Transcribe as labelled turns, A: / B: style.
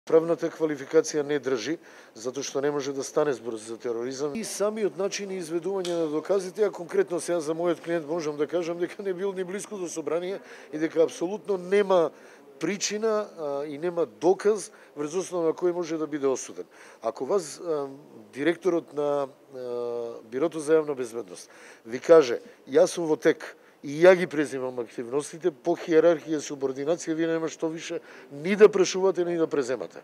A: Правната квалификација не држи, затоа што не може да стане збор за тероризам. И самиот начин и изведување на доказите, а конкретно сега за мојот клиент можам да кажам дека не бил ни близко до собрание и дека апсолутно нема причина и нема доказ врз основа на кој може да биде осуден. Ако вас директорот на Бирото за јавна безбедност ви каже јас сум во тек и ја ги преземам активностите, по хиерархија и субординација вие нема што више ни да прашувате, ни да преземате.